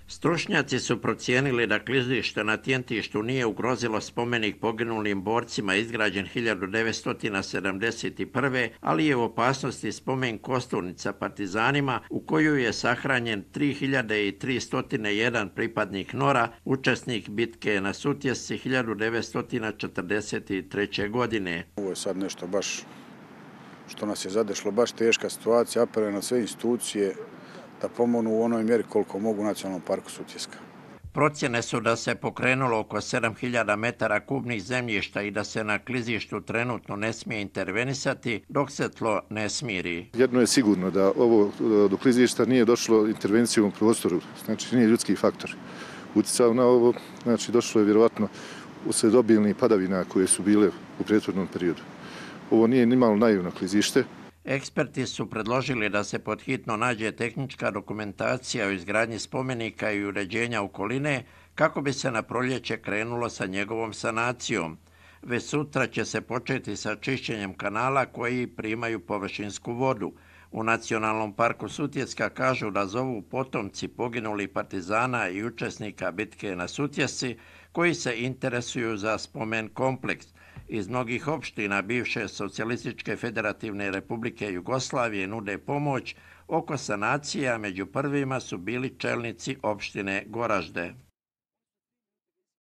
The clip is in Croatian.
Stručnjaci su procijenili da klizište na Tjentištu nije ugrozilo spomenik poginulim borcima izgrađen 1971. ali je u opasnosti spomen kosturnica partizanima u koju je sahranjen 3301 pripadnik NOR-a, učesnik bitke na Sutjesci 1943. godine. Ovo je sad nešto baš što nas je zadešlo, baš teška situacija, apelujem na sve institucije da pomognu u onoj mjeri koliko mogu Nacionalnom parku Sutjeska. Procjene su da se pokrenulo oko 7000 metara kubnih zemljišta i da se na klizištu trenutno ne smije intervenisati dok se tlo ne smiri. Jedno je sigurno da ovo do klizišta nije došlo intervencijom u prostoru, znači nije ljudski faktor utjecao na ovo, znači došlo je vjerovatno uslijed obilnih padavina koje su bile u prethodnom periodu. Ovo nije nimalo naivno klizište. Eksperti su predložili da se pod hitno nađe tehnička dokumentacija o izgradnji spomenika i uređenja okoline kako bi se na proljeće krenulo sa njegovom sanacijom. Već sutra će se početi sa čišćenjem kanala koji primaju površinsku vodu. U Nacionalnom parku Sutjeska kažu da zovu potomci poginulih partizana i učesnika bitke na Sutjesci koji se interesuju za spomen kompleks. Iz mnogih opština bivše Socijalističke federativne republike Jugoslavije nude pomoć oko sanacija, među prvima su bili čelnici opštine Goražde.